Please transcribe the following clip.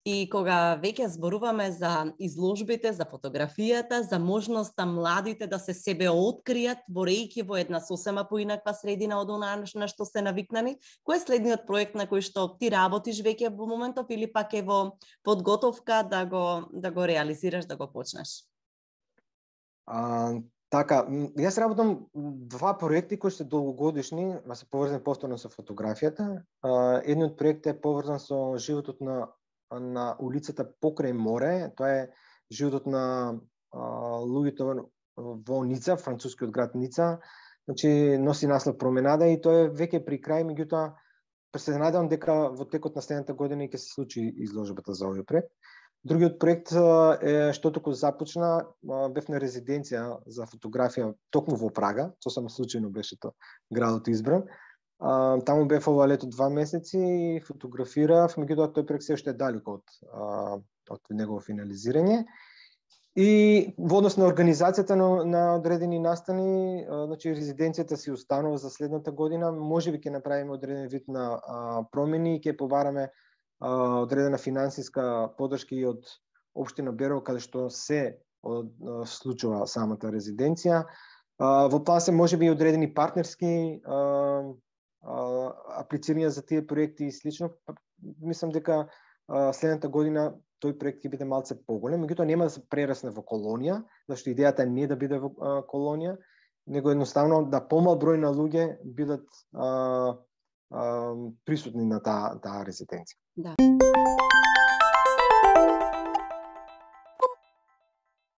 И кога веќе зборуваме за изложбите, за фотографијата, за можноста младите да се себе откријат, борејќи во една сосема поинаква средина од она на што се навикнани, кој е следниот проект на кој што ти работиш веќе во моментов или пак е во подготовка да го реализираш, да го почнеш? Така, јас работам два проекти кои се долгогодишни, ма се поврзани повторно со фотографијата. Едниот проект е поврзан со животот на улицата покрај море. Тоа е животот на луѓето во Ница, францускиот град Ница. Значи носи наслов Променада и тоа е веќе при крај, меѓутоа се надевам дека во текот на следната година ќе се случи изложбата за овој проект. Другиот проект е што току започна, бев на резиденција за фотографија токму во Прага, сосема случајно беше тоа градот избран. Таму бев ова лето 2 месеци и фотографирав, меѓутоа тој проект се уште е далеко од негово финализирање. И во однос на организацијата на одредени настани, значи резиденцијата си останува за следната година, можеби ќе направиме одреден вид на промени и ќе побараме одредена финансиска поддршка и од општина Берово, каде што се случува самата резиденција. Во план се можеби и одредени партнерски аплицирања за тие проекти и слично. Мислам дека следната година тој проект ќе биде малце поголем, меѓутоа нема да се прерасне во колонија, зашто идејата не е да биде во колонија, него едноставно да помал број на луѓе бидат присутни на таа резиденција. Да.